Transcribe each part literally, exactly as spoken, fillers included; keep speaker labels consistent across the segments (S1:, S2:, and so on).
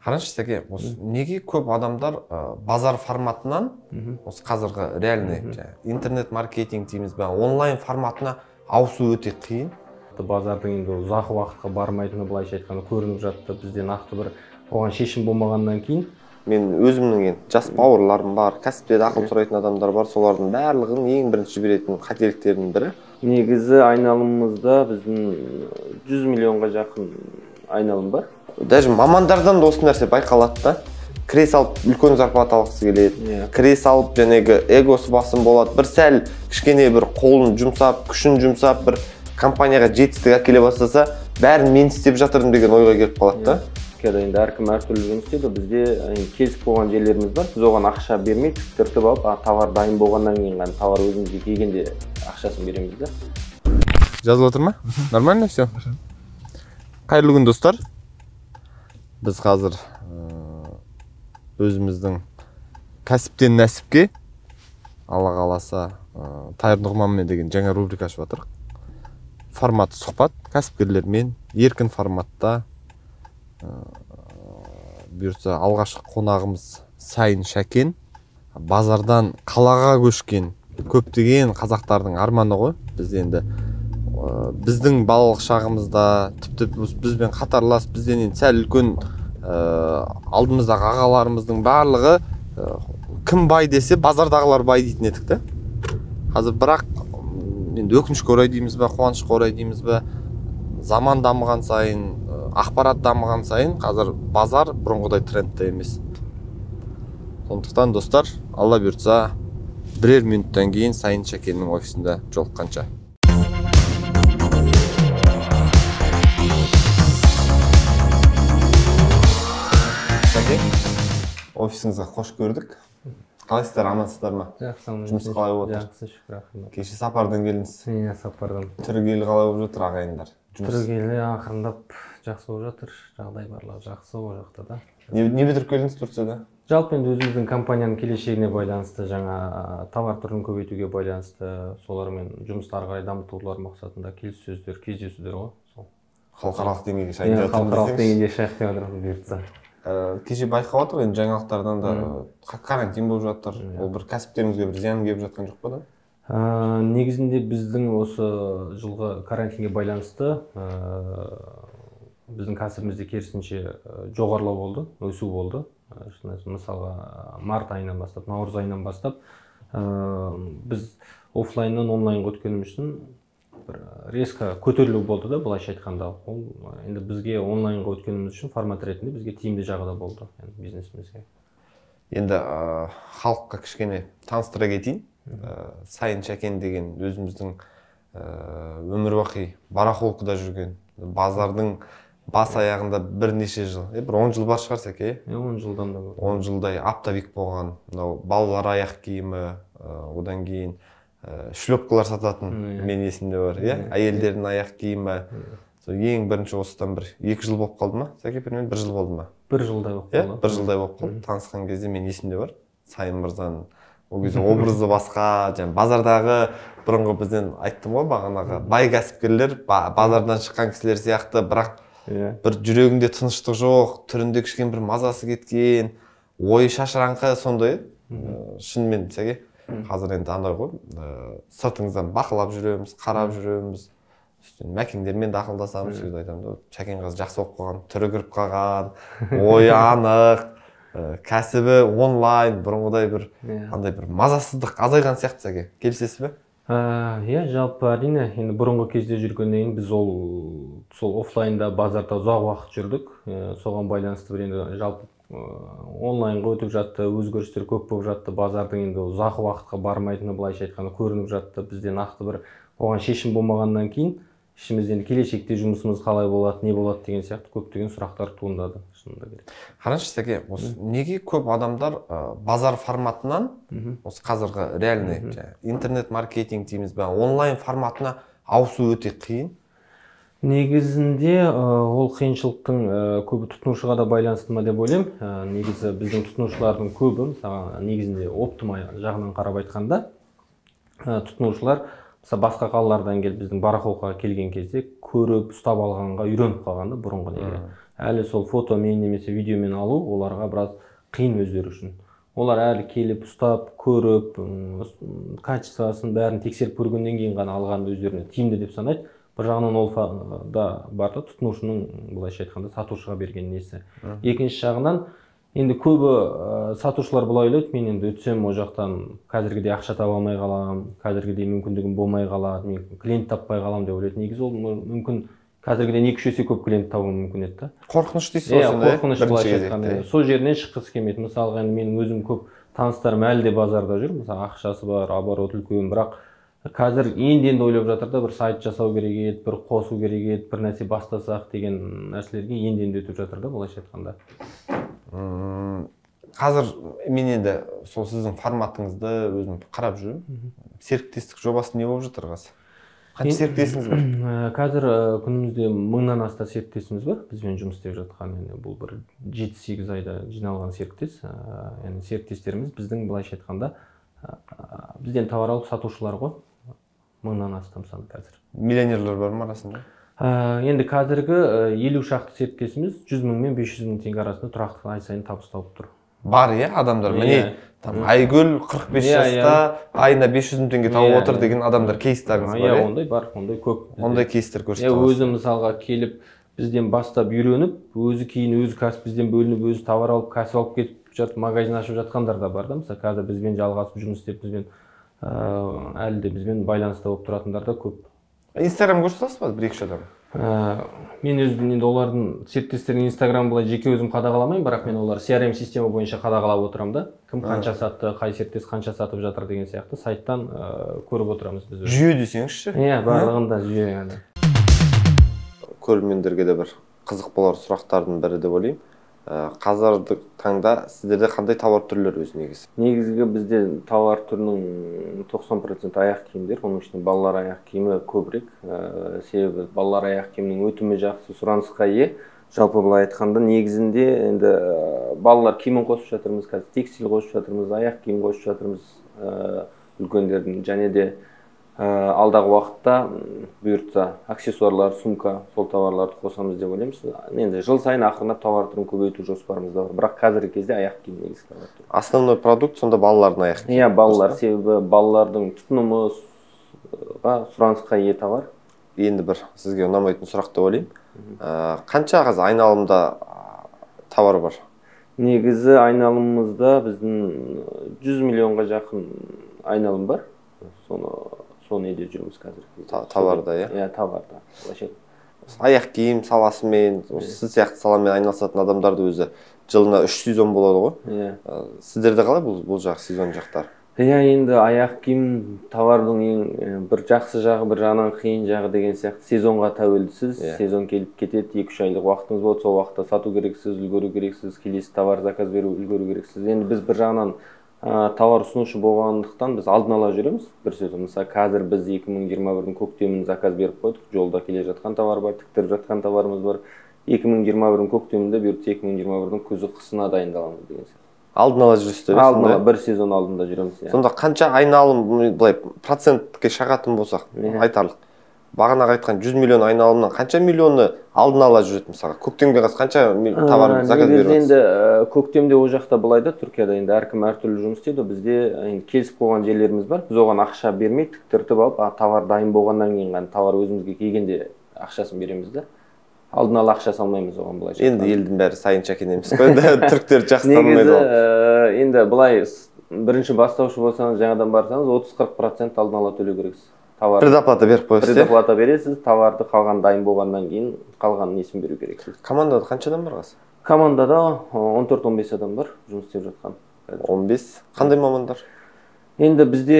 S1: Қараңызшы сәке, осы неге көп адамдар базар форматынан осы қазіргі реальный интернет маркетинг дейміз бе, онлайн форматына ауысу өте қиын.
S2: Базардың енді ұзақ уақытқа бармайтыны былайша айтқанда көрініп жатты. Бізде нақты бір оған шешім болмағаннан кейін
S1: мен өзімнің енді жас бауырларым бар, кәсіпте ақыл сұрайтын адамдар бар, солардың барлығын ең бірінші беретін қателіктердің бірі.
S2: Негізі айналымымызда біздің жүз миллионға жақын айналым бар.
S1: Даже мамандардан да осы нәрсе байқалады да. Кіре салып үлкен зарплата алғысы келеді. Кіре салып жәнегі эгосы басым болады. Бір сәл кішкене бір қолын жұмсап, күшін жұмсап, бір компанияға жетістік әкеле бастаса, бәрін мен істеп жатырмын деген ойға келіп қалады да.
S2: Кәді енді әркім әртүрлі жұмыс істейді. Бізде келісіп болған жерлеріміз бар. Біз оған ақша бермей, түртіп алып, товар дайын болғаннан кейін ғана товар өзімізге келгенде ақшасын береміз да.
S1: Жазылып отыр ма? Нормально все. Қайырлы күн достар. Біз қазір өзіміздің кәсіптен нәсіпке, Алла қаласа, Тайыр Нұғманмен деген жаңа рубрика ашып жатырмық. Форматы сұхбат, кәсіпкерлермен еркін форматта. Бұйыртса алғашқы қонағымыз Сайын Шәкен. Базардан қалаға көшкен көптеген қазақтардың арманы ғой. Біз енді біздің балалық шағымызда, тіпті бізбен қатарлас, бізден сәл үлкен алдымыздағы ағаларымыздың барлығы кім бай десе, базардағылар бай дейтін едік те. Қазір бірақ енді өкінішке орай дейміз бе, қуанышқа орай дейміз бе, заман дамыған сайын, ақпарат дамыған сайын қазір базар бұрынғыдай трендте емес. Сондықтан достар, Алла бұйыртса, бірер минуттан кейін Сайын Шәкеннің офисінде жолыққанша. Офисіңізге қош көрдік. Қалайсыздар, амансыздар ма?
S2: Жақсы,
S1: жұмыс қалай болып отыр?
S2: Жақсы, шүкір, рахмет.
S1: Кеше сапардан келдіңіз?
S2: Иә, сапардан.
S1: Түрігелі қалай болып жатыр ағайындар?
S2: Түрігелі ақырындап жақсы болып жатыр. Жағдай барлығы жақсы ол жақта да.
S1: Не бітіріп келдіңіз Турцияда?
S2: Жалпы енді өзіміздің компанияның келешегіне байланысты, жаңа товар түрін көбейтуге байланысты, солармен жұмысты ары қарай дамытулар мақсатында келіссөздер, кездесулер ғой.
S1: Халықаралық деңгейге шайын жатырмыз.
S2: Халықаралық деңгейге шайық деп отырмыз бұйыртса.
S1: Кеше байқап отыр, енді жаңалықтардан да карантин болып жатыр. Ол бір кәсіптерімізге бір зиян келіп жатқан жоқ па да?
S2: Негізінде біздің осы жылғы карантинге байланысты біздің кәсібімізде керісінше жоғарылау болды, өсу болды. Мысалға март айынан бастап, наурыз айынан бастап біз офлайннан онлайнға өткеніміз үшін бір резко көтерілу болды да, былайша айтқанда. Ол енді бізге онлайнға өткеніміз үшін формат ретінде бізге тиімді жағы да болды бизнесімізге.
S1: Енді халыққа кішкене таныстыра кетейін. Сайын Шәкен деген өзіміздің өмірбақи барахолкада жүрген, базардың бас аяғында бірнеше жыл, бір он жыл бар шығар Сәке?
S2: он жылдан да бар.
S1: он жылдай аптовик болған, балалар аяқ киімі, одан кейін шлепкалар сататын мен есімде бар, әйелдердің аяқ киімі. Ең бірінші осыдан бір екі жыл болып қалды ма? Сәке, бір жыл болды ма?
S2: Бір жылдай болып қалды.
S1: Бір жылдай болып қалды. Танысқан кезде мен есімде бар. Сайын мырзаның ол кезде образы басқа, базардағы бұрынғы бізден айттым ғой бағанағы бай кәсіпкерлер, базардан шыққан кісілер сияқты, бірақ бір жүрегінде тыныштық жоқ, түрінде кішкен бір мазасы кеткен, ойы шашыраңқы сондай. Шынымен Сәке, қазір енді андай ғой, сыртыңыздан бақылап жүреміз, қарап жүреміз, мәкеңдермен де ақылдасамыз, сөз айтамын. Шәкен қыз жақсы болып қалған, түрі кіріп қалған, ойы анық, кәсібі онлайн, бұрынғыдай бір андай бір мазасыздық азайған сияқты Сәке. Келісесіз бе?
S2: Иә, жалпы әрине, енді бұрынғы кезде жүргеннен біз ол сол офлайнда базарда ұзақ уақыт жүрдік. Соған байланысты бір енді жалпы онлайнға өтіп жатты, өзгерістер көп болып жатты. Базардың енді ұзақ уақытқа бармайтыны былайша айтқанда көрініп жатты. Бізде нақты бір оған шешім болмағаннан кейін ішімізден келешекте жұмысымыз қалай болады, не болады деген сияқты көптеген сұрақтар туындады.
S1: Қараңызшы Сәке, неге көп адамдар базар форматынан осы қазіргі реальный интернет маркетинг дейміз бе, онлайн форматына ауысу өте қиын?
S2: Негізінде ол қиыншылықтың көбі тұтынушыға да байланысты ма деп ойлаймын. Негізі біздің тұтынушылардың көбі, негізінде оптима жағынан қарап айтқанда, тұтынушылар басқа қалалардан келіп біздің барахолкаға келген кезде көріп ұстап алғанға үйреніп қалғанда бұрынғы неге. әлі сол фотомен немесе видеомен алу оларға біраз қиын өздері үшін. Олар әлі келіп ұстап, көріп, качествосын бәрін тексеріп көргеннен кейін ғана алғанды өздеріне тиімді деп санайды. Бір жағынан ол да бар да, тұтынушының былайша айтқанда сатушыға берген несі. Екінші жағынан енді көбі сатушылар былай ойлайды, мен енді өтсем о жақтан қазіргідей ақша таба алмай қалам, қазіргідей мүмкіндігім болмай қалады, мен клиент таппай қалам деп ойлайды. Негізі ол мүмкін қазіргіден екі үш есе көп клиент табуы мүмкін еді.
S1: Қорқыныш дейсіз ғой сонда?
S2: Қорқыныш былайша айтқанда. Сол жерінен шыққысы келмейді. Мысалға енді менің өзім көп таныстарым әлі де базарда жүр. Мысалы ақшасы бар, оборот үлкен, бірақ қазір енді-енді ойлап жатыр да, бір сайт жасау керек еді, бір қосу керек еді, бір нәрсе бастасақ деген нәрселерге енді-енді өтіп жатыр да, былайша айтқанда.
S1: Қазір мен енді сол сіздің форматыңызды өзім қарап жүрмін. Серіктестік жобасы не болып жатыр қазір? Қанша серіктесіңіз бар?
S2: Қазір күнімізде мыңнан аса серіктесіміз бар. Бізбен жұмыс істеп жатқан, бұл бір жеті сегіз айда жиналған серіктес. Яғни серіктестеріміз біздің былайша айтқанда бізден товар алып сатушылар ғой. Мыңнан астам саны қазір.
S1: Миллионерлер бар ма арасында?
S2: Енді қазіргі елу шақты серіктесіміз жүз мың мен бес жүз мың теңге арасында тұрақты ай сайын табыс тауып тұр.
S1: Бар, иә, адамдар. Міне, Айгүл қырық бес жаста айына бес жүз мың теңге тауып отыр деген адамдар кейстарыңыз бар.
S2: Иә, ондай бар, ондай көп.
S1: Ондай кейстер көрсетіп отырсыз.
S2: Өзі мысалға келіп бізден бастап үйреніп, өзі кейін өзі кәсіп бізден бөлініп, өзі товар алып, кәсіп алып кетіп жатып, магазин ашып жатқандар да бар да. Мысалы, қазір бізбен жалғасып жұмыс істеп, бізбен әлі де бізбен байланыста болып тұратындар да көп.
S1: Инстаграм көрсетесіз ба бір-екі адам?
S2: Мен өзім енді олардың серіктестерінің инстаграм былай жеке өзім қадағаламаймын, бірақ мен олар си ар эм система бойынша қадағалап отырамын да. Кім қанша сатты, қай серіктес қанша сатып жатыр деген сияқты сайттан көріп отырамыз біз.
S1: Жүйе десеңізші?
S2: Иә, барлығында жүйе.
S1: Көрермендерге де бір қызық болар сұрақтардың бірі деп ойлаймын. Қазіргі таңда сіздерде қандай товар түрлері өзі негізі?
S2: Негізгі бізде товар түрінің тоқсан процент аяқ киімдер, оның ішінде балалар аяқ киімі көбірек. Себебі балалар аяқ киімнің өтімі жақсы, сұранысқа ие. Жалпы былай айтқанда негізінде енді балалар киімін қосып жатырмыз, қазір текстиль қосып жатырмыз, аяқ киім қосып жатырмыз үлкендердің, және де алдағы уақытта бұйыртса аксессуарлар, сумка, сол товарларды қосамыз деп ойлаймыз. Енді жыл сайын ақырындап товар түрін көбейту жоспарымызда бар. Бірақ қазіргі кезде аяқ киім негізгі товар түрі.
S1: Основной продукт сонда балалардың аяқ киімі.
S2: Иә, балалар, себебі балалардың тұтынымыға, сұранысқа ие товар.
S1: Енді бір сізге ұнамайтын сұрақ деп ойлаймын. Қанша қазір айналымда товар бар?
S2: Негізі айналымымызда біздің жүз миллионға жақын айналым бар. Соны соны еде жүрміз қазір.
S1: Товарда, иә?
S2: Иә, товарда.
S1: Аяқ киім саласымен, сіз сияқты саламен айналысатын адамдарды өзі жылына үш сезон болады ғой?
S2: Иә.
S1: Сіздерде қалай бұл жақ сезон жақтар?
S2: Иә, енді аяқ киім товардың ең бір жақсы жағы, бір жағынан қиын жағы деген сияқты сезонға тәуелдісіз. Сезон келіп кетеді, екі үш айлық уақытыңыз болады, сол уақытта сату керексіз, үлгеру керексіз, келесі товар заказ беру үлгеру керексіз. Енді біз бір жағынан товар ұсынушы болғандықтан біз алдын ала жүреміз. Бір сөзі, мысалы, қазір біз екі мың жиырма бірдің көктемін заказ беріп қойдық. Жолда келе жатқан товар бар, тіктіріп жатқан товарымыз бар. екі мың жиырма бірдің көктемінде бұйыртса екі мың жиырма бірдің күзі қысына дайындаламыз деген сияқты.
S1: Алдын ала жүрсіздер?
S2: Алдын ала бір сезон алдында жүреміз.
S1: Сонда қанша айналым, былай процентке шағатын болсақ, айтарлық. Бағана айтқан жүз миллион айналымнан қанша миллионы алдын ала жүреді мысалға? Көктемге қаз қанша товар заказ беріп жатсыз?
S2: Енді көктемде о жақта былайда, Түркияда енді әркім әртүрлі жұмыс істейді. Бізде келісіп қойған жерлеріміз бар. Біз оған ақша бермей, тіктіртіп алып, товар дайын болғаннан кейін ғана товар өзімізге келгенде ақшасын береміз да. Алдын ала ақша салмаймыз оған былайша.
S1: Енді елдің бәрі сайын шәкен емес қой, түріктер жақсы танымайды ғой.
S2: Негізі енді былай бірінші бастаушы болсаңыз, жаңадан барсаңыз, отыз қырық процент алдын ала төлеу керексіз.
S1: Предоплата беріп қойсыз.
S2: Предоплата бересіз, товарды қалған дайын болғаннан кейін қалғанын несін беру керексіз.
S1: Командада қанша адам бар қазір?
S2: Командада он төрт он бес адам бар жұмыс істеп жатқан.
S1: он бес. Қандай мамандар?
S2: Енді бізде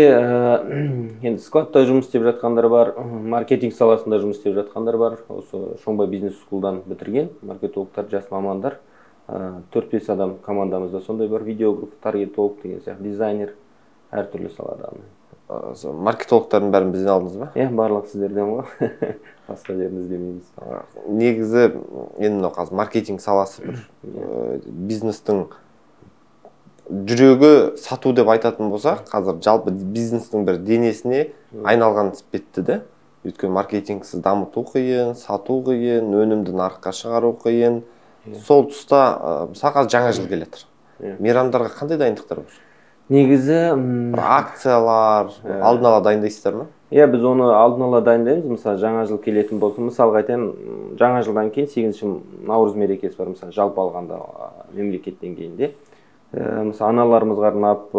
S2: енді складта жұмыс істеп жатқандар бар, маркетинг саласында жұмыс істеп жатқандар бар. Осы Шоңбай бизнес скулдан бітірген маркетологтар, жас мамандар. төрт бес адам командамызда сондай бар. Видеограф, таргетолог деген сияқты, дизайнер, әртүрлі салада.
S1: Маркетологтардың бәрін бізден алдыңыз ба?
S2: Иә, барлық сіздерден ғой. Басқа жерін іздемейміз.
S1: Негізі енді қазір маркетинг саласы бір бизнестің жүрегі сату деп айтатын болсақ, қазір жалпы бизнестің бір денесіне айналған іспетті де. Өйткені маркетингсіз дамыту қиын, сату қиын, өнімді нарыққа шығару қиын. сол тұста мысалға жаңа жыл келе жатыр. Мейрамдарға қандай дайындықтар бар?
S2: Негізі
S1: бір акциялар алдын ала дайындайсыздар ма?
S2: Иә, біз оны алдын ала дайындаймыз. Мысалы, жаңа жыл келетін болса, мысалға айтайын, жаңа жылдан кейін сегізінші наурыз мерекесі бар, мысалы, жалпы алғанда мемлекет деңгейінде. Мысалы, аналарымызға арнап,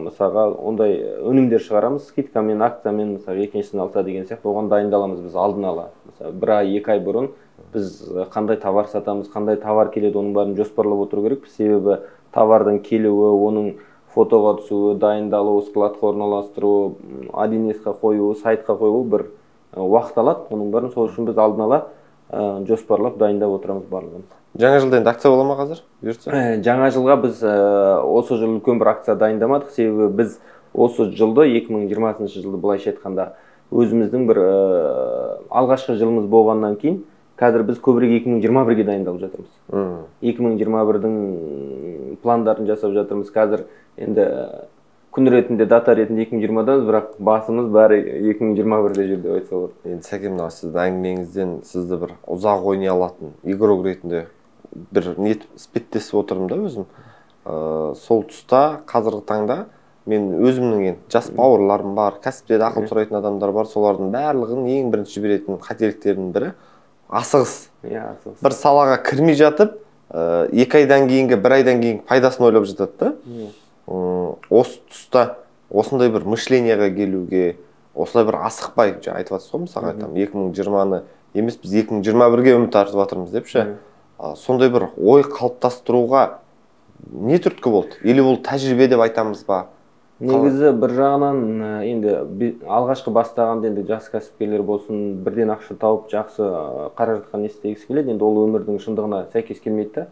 S2: мысалға, ондай өнімдер шығарамыз, скидкамен, акциямен, мысалы, екіншісін алса деген сияқты, оған дайындаламыз біз алдын ала. Мысалы, бір ай, екі ай бұрын біз қандай товар сатамыз, қандай товар келеді, оның бәрін жоспарлап отыру керек. Себебі товардың келуі, оның фотоға түсуі, дайындалуы, складқа орналастыру, один эске қоюы, сайтқа қоюы бір уақыт алады. Оның бәрін сол үшін біз алдын ала жоспарлап дайындап отырамыз барлығын.
S1: Жаңа жылда енді акция бола ма қазір?
S2: Жаңа жылға біз осы жыл үлкен бір акция дайындамадық. Себебі біз осы жылды екі мың жиырмасыншы жылды былайша айтқанда өзіміздің бір алғашқы жылымыз болғаннан кейін қазір біз көбірек екі мың жиырма бірге дайындалып жатырмыз. екі мың жиырма бірдің пландарын жасап жатырмыз. Қазір енді күн ретінде, дата ретінде екі мың жиырмадамыз, бірақ басымыз бәрі екі мың жиырма бірде жүр деп айтса болады.
S1: Енді Сәкен, мынау сіздің әңгімеңізден сізді бір ұзақ ойнай алатын игрок ретінде бір не іспеттесіп отырмын да өзім. Сол тұста қазіргі таңда мен өзімнің енді жас бауырларым бар, кәсіпте ақыл сұрайтын адамдар бар, солардың барлығын ең бірінші беретін қателіктердің бірі асығыс. Бір салаға кірмей жатып, екі айдан кейінгі, бір айдан кейін пайдасын ойлап жатады да. Осы тұста осындай бір мышленияға келуге, осылай бір асықпай, жаңа айтып жатсыз ғой, мысалға айтамын, екі мың жиырманы емес, біз екі мың жиырма бірге үміт артып жатырмыз деп ше. Сондай бір ой қалыптастыруға не түрткі болды? Или ол тәжірибе деп айтамыз ба?
S2: Негізі бір жағынан енді алғашқы бастағанда енді жас кәсіпкерлер болсын, бірден ақша тауып жақсы қаражатқа не істегісі келеді, енді ол өмірдің шындығына сәйкес келмейді да.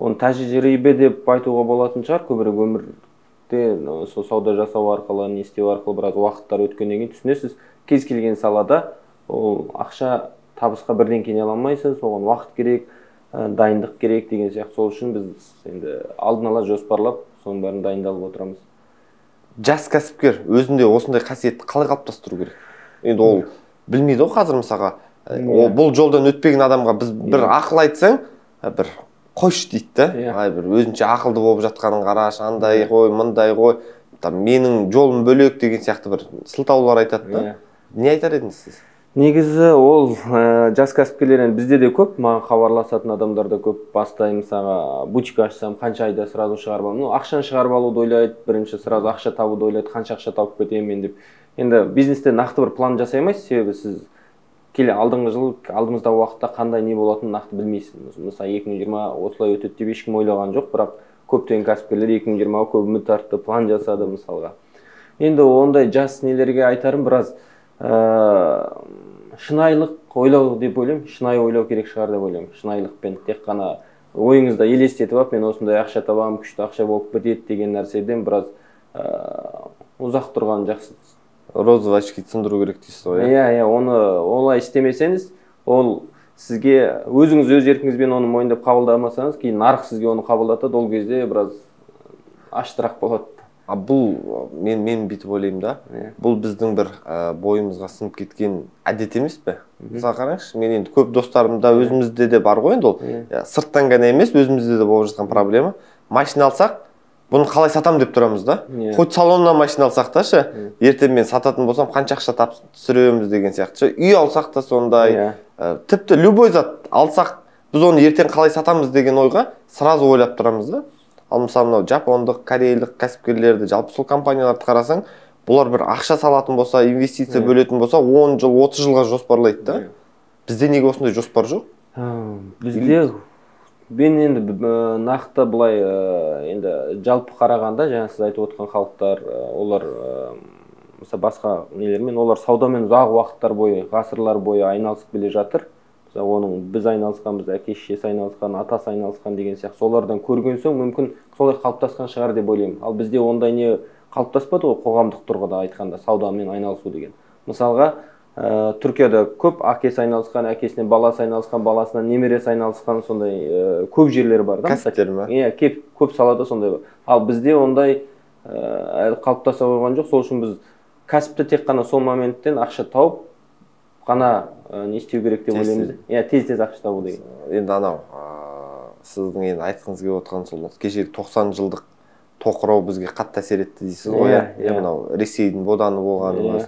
S2: Оны тәжірибе деп айтуға болатын шығар, көбірек өмірде сол сауда жасау арқылы, не істеу арқылы біраз уақыттар өткеннен кейін түсінесіз, кез келген салада ол ақша табысқа бірден келе алмайсыз, оған уақыт керек, дайындық керек деген сияқты. Сол үшін біз енді алдын ала жоспарлап, соның бәрін дайындалып отырамыз.
S1: Жас кәсіпкер өзінде осындай қасиетті қалай қалыптастыру керек? Енді ол білмейді ғой қазір мысалға. Бұл жолдан өтпеген адамға біз бір ақыл айтсаң, бір қойш дейді да. Ай, бір өзінше ақылды болып жатқанын қараш, андай ғой, мындай ғой, менің жолым бөлек деген сияқты бір сылтаулар айтады да. Не айтар едіңіз сіз?
S2: Негізі ол жас кәсіпкерлер бізде де көп, маған хабарласатын адамдар да көп. Бастаймын, мысалға бутик ашсам, қанша айда сразу шығарып аламын. Ақшаны шығарып алуды ойлайды, бірінші сразу ақша табуды ойлайды, қанша ақша тауып кетемін мен деп. Енді бизнесте нақты бір план жасай алмайсыз, себебі сіз келе алдыңғы жыл, алдымыздағы уақытта қандай не болатынын нақты білмейсіз. Мысалы екі мың жиырма осылай өтеді деп ешкім ойлаған жоқ, бірақ көптеген кәсіпкерлер екі мың жиырмаға көп үміт артты, план жасады мысалға. Енді ондай жас нелерге айтарым біраз шынайылық ойлау деп ойлаймын, шынайы ойлау керек шығар деп ойлаймын. Шынайылықпен тек қана ойыңызда елестетіп алып, мен осындай ақша табамын, күшті ақша болып кетеді деген нәрседен біраз ұзақ тұрған жақсы.
S1: Розовый очки сындыру керек дейсіз ғой.
S2: Иә, иә, оны олай істемесеңіз, ол сізге өзіңіз өз еркіңізбен оны мойындап қабылдамасаңыз, кейін нарық сізге оны қабылдатады, ол кезде біраз аштырақ болады.
S1: Бұл мен мен бүйтіп ойлаймын да. Бұл біздің бір бойымызға сіңіп кеткен әдет емес пе? Мысалы қараңызшы, мен енді көп достарымда өзімізде де бар ғой енді ол. Сырттан ғана емес, өзімізде де болып жатқан проблема. Машина алсақ, бұны қалай сатам деп тұрамыз да. Хоть салоннан машина алсақ та ше, ертең мен сататын болсам қанша ақша тап түсіреміз деген сияқты. Үй алсақ та сондай. Тіпті любой зат алсақ, біз оны ертең қалай сатамыз деген ойға сразу ойлап тұрамыз да. Ал мысалы мынау жапондық, корейлік кәсіпкерлерді, жалпы сол компанияларды қарасаң, бұлар бір ақша салатын болса, инвестиция бөлетін болса, он жыл, отыз жылға жоспарлайды да. Бізде неге осындай жоспар жоқ?
S2: Бізде мен енді нақты былай енді жалпы қарағанда, жаңа сіз айтып отқан халықтар, олар мысалы басқа нелермен, олар саудамен ұзақ уақыттар бойы, ғасырлар бойы айналысып келе жатыр. Оның біз айналысқан, біз әке шешесі айналысқан, атасы айналысқан деген сияқты солардан көрген соң мүмкін солай қалыптасқан шығар деп ойлаймын. Ал бізде ондай не қалыптаспады ғой, қоғамдық тұрғыда айтқанда саудамен айналысу деген. Мысалға, Түркияда көп әкесі айналысқан, әкесінен баласы айналысқан, баласынан немересі айналысқан сондай көп жерлер бар да.
S1: Кәсіптер ме?
S2: Иә, көп салада сондай бар. Ал бізде ондай әлі қалыптаса қойған жоқ. Сол үшін біз кәсіпті тек қана сол моменттен ақша тауып қана не істеу керек деп ойлаймыз. Иә, тез-тез ақша табу деген.
S1: Енді анау сіздің енді айтқыңыз келіп отқан сол кешегі тоқсан жылдық тоқырау бізге қатты әсер етті дейсіз ғой. Иә, мынау Ресейдің боданы болғанымыз.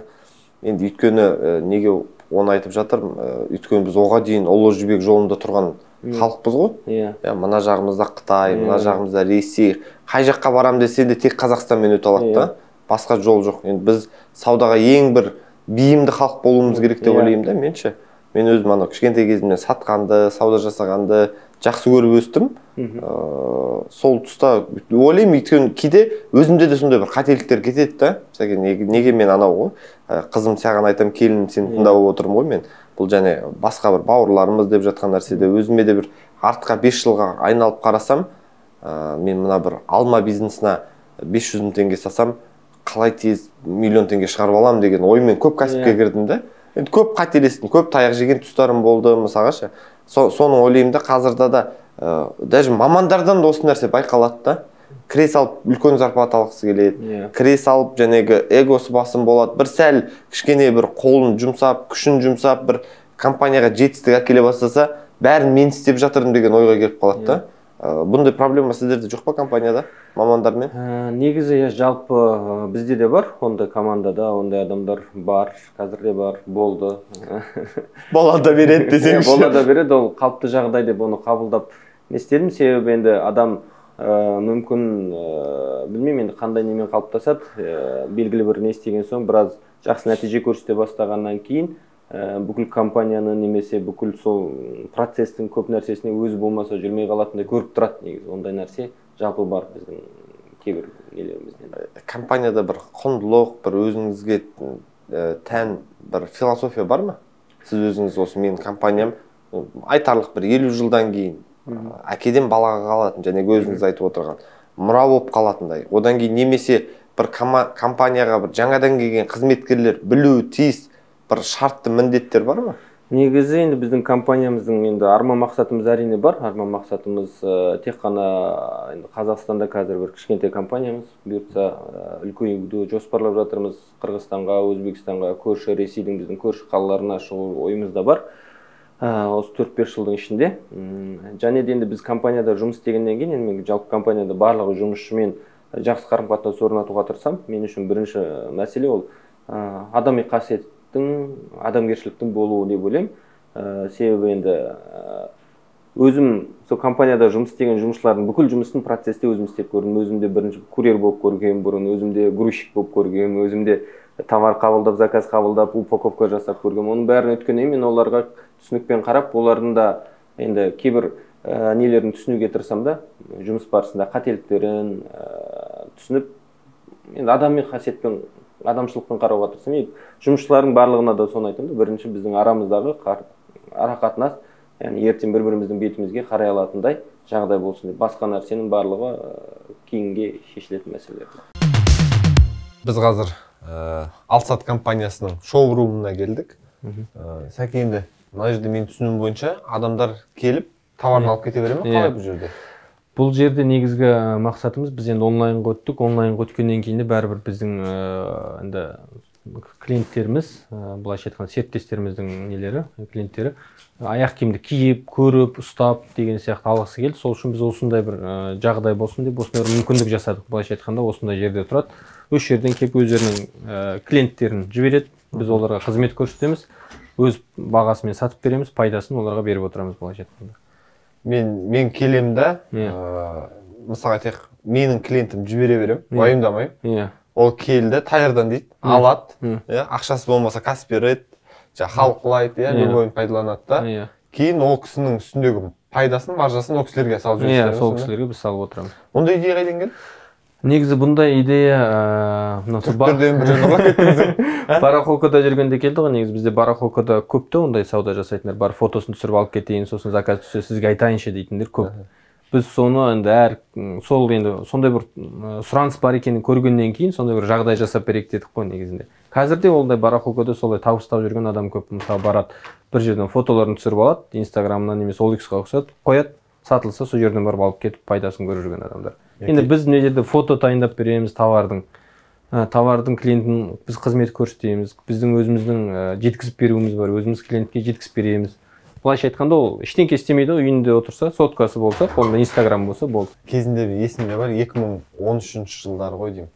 S1: Енді өйткені неге оны айтып жатырмын? Өйткені біз оған дейін ұлы жібек жолында тұрған халықпыз ғой. Иә, мына жағымызда Қытай, мына жағымызда Ресей. Қай жаққа барам десе де тек Қазақстанмен өте алады да. Басқа жол жоқ. Енді біз саудаға ең бір бейімді халық болуымыз керек деп ойлаймын да, менше. Мен өзім ана кішкентай кезімнен сатқанды, сауда жасағанды жақсы көріп өстім. Сол тұста ойлаймын, өйткені кейде өзімде де сондай бір қателіктер кетеді да. Неге мен анау ғой, қызым саған айтам, келін сені тыңдап отырмын ғой мен. Бұл және басқа бір бауырларымыз деп жатқан нәрседе өзіме де бір артқа бес жылға айналып қарасам, мен мына бір алма бизнесіне бес жүз мың теңге сасам, қалай тез миллион теңге шығарып аламын деген оймен көп кәсіпке кірдім да. Енді көп қателестім, көп таяқ жеген тұстарым болды, мысалға ше. Соны ойлаймын да, қазірде да даже мамандардан да осы нәрсе байқалады да. Кіре салып үлкен зарплата алғысы келеді. Кіре салып жәнегі эгосы басым болады. Бір сәл кішкене бір қолын жұмсап, күшін жұмсап, бір компанияға жетістік әкеле бастаса, бәрін мен істеп жатырмын деген ойға келіп қалады да. Бұндай проблема сіздерде жоқ па компанияда, мамандармен?
S2: Негізі жалпы бізде де бар, ондай командада, ондай адамдар бар, қазір де бар, болды.
S1: Бола да береді десеңші.
S2: Бола да береді, ол қалыпты жағдай деп оны қабылдап не істедім, себебі енді адам мүмкін білмеймін енді қандай немен қалыптасады, белгілі бір не істеген соң біраз жақсы нәтиже көрсете бастағаннан кейін бүкіл компанияны немесе бүкіл сол процестің көп нәрсесіне өзі болмаса жүрмей қалатындай көріп тұрады негізі. Ондай нәрсе жалпы бар біздің кейбір нелерімізден.
S1: Компанияда бір құндылық, бір өзіңізге тән бір философия бар ма? Сіз өзіңіз осы менің компаниям айтарлық бір елу жылдан кейін әкеден балаға қалатын, және өзіңіз айтып отырған мұра болып қалатындай. Одан кейін немесе бір компанияға бір жаңадан келген қызметкерлер білуі тиіс бір шартты міндеттер бар ма?
S2: Негізі енді біздің компаниямыздың енді арман мақсатымыз әрине бар. Арман мақсатымыз тек қана енді Қазақстанда қазір бір кішкентай компаниямыз, бұйыртса үлкеюді жоспарлап жатырмыз. Қырғызстанға, Өзбекстанға, көрші Ресейдің біздің көрші қалаларына шығу ойымызда бар. Осы төрт-бес жылдың ішінде. Және де енді біз компанияда жұмыс істегеннен кейін, енді мен жалпы компанияда барлығы жұмысшымен жақсы қарым-қатынас орнатуға тырысам. Мен үшін бірінші мәселе ол адами қасиет адамгершіліктің болуы деп ойлаймын. Себебі енді өзім сол компанияда жұмыс істеген жұмысшылардың бүкіл жұмысын процесте өзім істеп көрдім. Өзімде бірінші курьер болып көргем бұрын, өзімде грузчик болып көргем, өзімде товар қабылдап, заказ қабылдап, упаковка жасап көргем. Оның бәрін өткеннен мен оларға түсінікпен қарап, олардың да енді кейбір нелерін түсінуге тырысам да, жұмыс барысында қателіктерін түсініп, енді адами қасиетпен адамшылықпен қарауға тырысам. Жұмысшылардың барлығына да соны айтамын. Бірінші біздің арамыздағы арақатынас, яғни ертең бір-біріміздің бетімізге қарай алатындай жағдай болсын деп. Басқа нәрсенің барлығы кейінге шешілетін мәселелер.
S1: Біз қазір Алсат компаниясының шоу-румына келдік. Сәке, енді мына жерде мен түсінуім бойынша адамдар келіп товарын алып кете бере ме? Қалай бұл жерде?
S2: Бұл жерде негізгі мақсатымыз, біз енді онлайнға өттік. Онлайнға өткеннен кейін де бәрібір біздің енді клиенттеріміз, былайша айтқанда серіктестеріміздің нелері, клиенттері аяқ киімді киіп, көріп, ұстап деген сияқты алғысы келді. Сол үшін біз осындай бір жағдай болсын деп осындай бір мүмкіндік жасадық. Былайша айтқанда осындай жерде тұрады. Өз жерден келіп өздерінің клиенттерін жібереді. Біз оларға қызмет көрсетеміз, өз бағасымен сатып береміз, пайдасын оларға беріп отырамыз, былайша айтқанда.
S1: Мен мен келем да, мысалға айтайық, менің клиентім жібере берем, уайымдамаймын. Ол келді, тайырдан дейді, алады, ақшасы болмаса Каспирет, халықлайды, любойын пайдаланады да. Кейін ол кісінің үстіндегі пайдасын, маржасын ол кісілерге салып жүрсіздер.
S2: Сол кісілерге біз салып отырамыз.
S1: Ондай идея қайдан келді?
S2: Негізі бұндай идея
S1: түрктерден бір жерге кеттіңіз.
S2: Барахолкада жүргенде келді ғой. Негізі бізде барахолкада көпті ондай сауда жасайтындар. Бар фотосын түсіріп алып кетейін, сосын заказ түссе сізге айтайыншы дейтіндер көп. Біз соны енді әр сол енді сондай бір сұраныс бар екенін көргеннен кейін сондай бір жағдай жасап берейік дедік қой негізінде. Қазірде ондай барахолкада солай табыстап жүрген адам көп. Мысалы барады, бір жерден фотоларын түсіріп алады, Инстаграмнан немесе ол иксқа ұқсатып қояды, сатылса сол жерден барып алып кетіп пайдасын көріп жүрген адамдар. Енді біз мына жерде фото тайындап береміз товардың. Товардың клиентін біз қызмет көрсетеміз. Біздің өзіміздің жеткізіп беруіміз бар. Өзіміз клиентке жеткізіп береміз. былайша айтқанда ол ештеңке істемейді ғой, үйінде отырса, соткасы болса, қолында инстаграм болса болды.
S1: Кезінде есімде бар, екі мың он үшінші жылдары ғой деймін.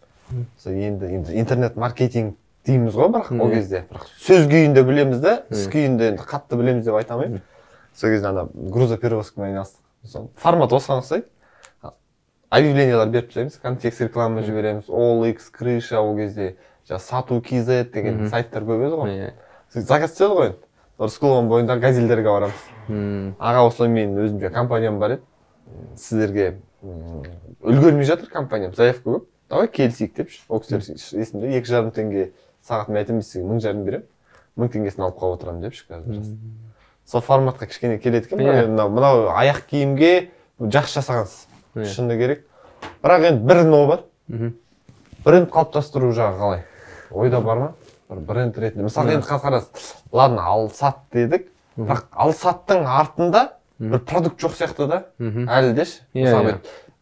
S1: Енді енді интернет маркетинг дейміз ғой, бірақ ол кезде бірақ сөз күйінде білеміз да, іс күйінде енді қатты білеміз деп айта алмаймын. Сол кезде ана грузоперевозкамен айналыстық. Формат осыған ұқсайды. Объявлениялар беріп тастаймыз, контекст реклама жібереміз, о эл икс, крыша, ол кезде сату кз деген сайттар көп еді ғой. Заказ түседі ғой. Рысқұловың бойындағы газельдерге барамыз. Аға, осылай мен өзімде компаниям бар еді. Сіздерге үлгермей жатыр компаниям, заявка көп. Давай келісейік деп. Ол кісілер есімде екі жарым теңге сағат мен айтамын, сізге мың жарым беремін. Мың теңгесін алып қалып отырамын депші қазір. Сол форматқа кішкене келеді екен. Мынау аяқ киімге жақсы жасағансыз. Шыны керек. Бірақ енді бір но бар. Бренд қалыптастыру жағы қалай? Ойда бар ма? Бренд ретінде. Мысалы енді қарасыз, ладно, Алсат дедік, бірақ Алсаттың артында бір продукт жоқ сияқты да, әлі деші. Мысалы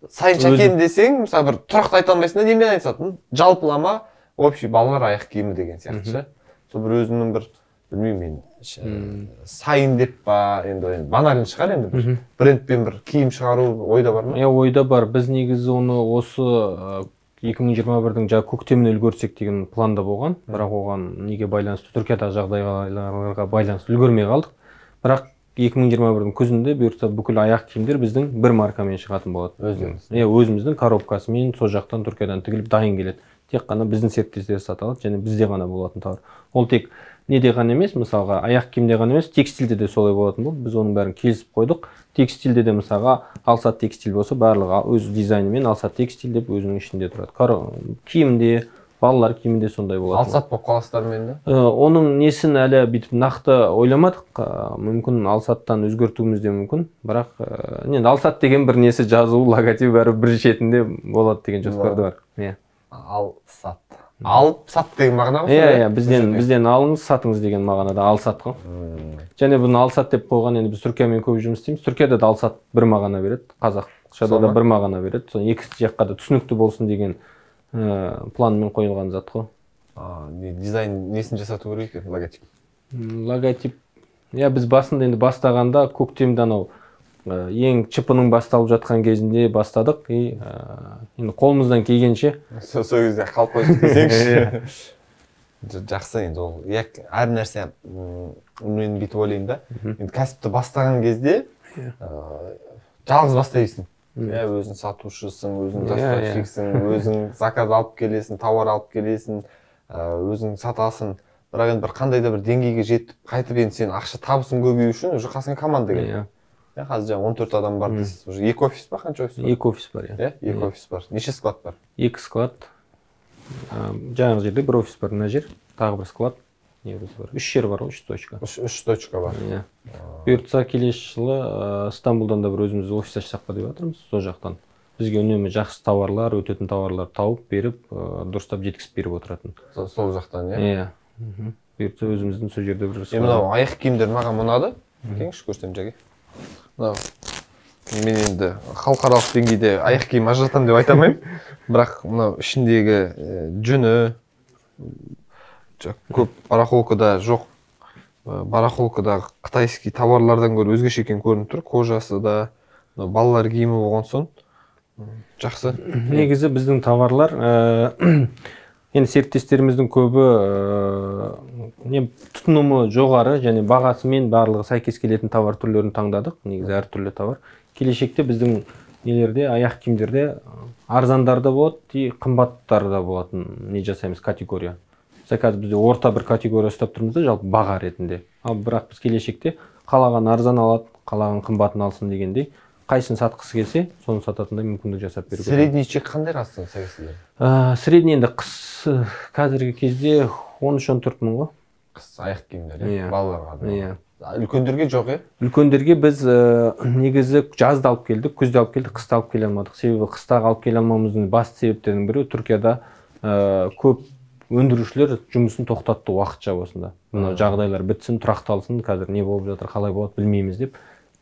S1: Сайын Шәкен десең, мысалы бір тұрақты айта алмайсың да, немен айтсатын? Жалпылама, общий балалар аяқ киімі деген сияқты. Сол бір өзінің бір, білмеймін мен, Сайын деп па, енді банарин шығар енді бір брендпен бір киім шығару ойда бар ма?
S2: Е, ойда бар. Біз негізі оны осы екі мың жиырма бірдің жаңа көктемін үлгерсек деген планда болған. Бірақ оған неге байланысты, Түркиядағы жағдайларға байланысты үлгермей қалдық. Бірақ екі мың жиырма бірдің күзінде бұйыртса бүкіл аяқ киімдер біздің бір маркамен шығатын болады.
S1: Өзіміз.
S2: Е, өзіміздің коробкасымен сол жақтан Түркиядан тігіліп дайын келеді. Тек қана біздің серіктестер сата алады, және бізде ғана болатын товар. Ол тек неде ғана емес, мысалға аяқ киімде ғана емес, текстильде де солай болатын болды. Біз оның бәрін келісіп қойдық. Текстильде де мысалға Алсат текстиль болса, барлығы өз дизайнымен Алсат текстиль деп өзінің ішінде тұрады. Киімде, балалар киімінде сондай болады.
S1: Алсат болып қаласыздар мен де?
S2: Оның несін әлі бүйтіп нақты ойламадық. Мүмкін Алсаттан өзгертуіміз де мүмкін. Бірақ енді Алсат деген бір несі жазу, логотип бәрі бір шетінде болады деген жоспарда бар. Иә.
S1: Алсат. Алып сат деген мағына ғой?
S2: Иә, иә, бізден бізден алыңыз, сатыңыз деген мағынада Алсат ғой. Және бұны Алсат деп қойған, енді біз Түркиямен көп жұмыс істейміз. Түркияда да Алсат бір мағына береді, қазақшада да бір мағына береді. Соны екі жаққа да түсінікті болсын деген планмен қойылған зат қой.
S1: Дизайн несін жасату керек екен, логотип?
S2: Логотип. Иә, біз басында енді бастағанда көктемде анау ең чипының басталып жатқан кезінде бастадық. Енді қолымыздан келгенше.
S1: Сол кезде қалып қойдық десеңші. Жақсы енді ол. Әр нәрсе мен бүйтіп ойлаймын да. Енді кәсіпті бастаған кезде жалғыз бастайсың. Өзің сатушысың, өзің доставщиксің, өзің заказ алып келесің, тауар алып келесің, өзің сатасың. Бірақ енді бір қандай да бір деңгейге жетіп, қайтып енді сен ақша табысың көбею үшін уже қасыңа команда керек. Қазір жаңа он төрт адам бар дейсіз. Уже екі офис па, қанша офис бар?
S2: Екі офис бар, иә.
S1: Екі офис бар. Неше склад бар?
S2: Екі склад. Жаңағы жерде бір офис бар, мына жер. Тағы бір склад. Негізі бар. Үш жер бар, үш точка.
S1: Үш точка бар.
S2: Иә. Бұйыртса келесі жылы Стамбулдан да бір өзіміз офис ашсақ па деп жатырмыз, сол жақтан. Бізге үнемі жақсы тауарлар, өтетін тауарлар тауып беріп, дұрыстап жеткізіп беріп отыратын.
S1: Сол жақтан, иә?
S2: Иә. Бұйыртса өзіміздің сол жерде бір.
S1: Мынау аяқ киімдер маған ұнады. Кеңші көрсем жәге. Мен енді халықаралық деңгейде аяқ киім ажыратамын деп айта алмаймын. Бірақ мынау ішіндегі жүні көп барахолкада жоқ. Барахолкадағы қытайский товарлардан гөрі өзгеше екен көрініп тұр. Кожасы да, балалар киімі болған соң жақсы.
S2: Негізі біздің товарлар енді серіктестеріміздің көбі тұтынымы жоғары және бағасымен барлығы сәйкес келетін товар түрлерін таңдадық. Негізі әртүрлі товар. Келешекте біздің нелерде, аяқ киімдерде арзандар да болады, қымбаттар да болатын не жасаймыз категория. Қазір бізде орта бір категория ұстап тұрмыз да, жалпы баға ретінде. Ал бірақ біз келешекте қалаған арзан алады, қалаған қымбатын алсын дегендей, қайсын сатқысы келсе, соны сататындай мүмкіндік жасап беру керек.
S1: Средний чек қандай қастың сәйкесілер?
S2: Средний енді қыс қазіргі кезде он үш он төрт мың ғой.
S1: Қыс аяқ киімдер, балаларға да.
S2: Иә.
S1: Үлкендерге жоқ, е?
S2: Үлкендерге біз негізі жазды алып келдік, күзде алып келдік, қыста алып келе алмадық. Себебі қыстағы алып келе алмамыздың басты себептерінің бірі Түркияда көп өндірушілер жұмысын тоқтатты уақытша осында. Мына жағдайлар бітсін, тұрақталсын, қазір не болып жатыр, қалай болады білмейміз деп.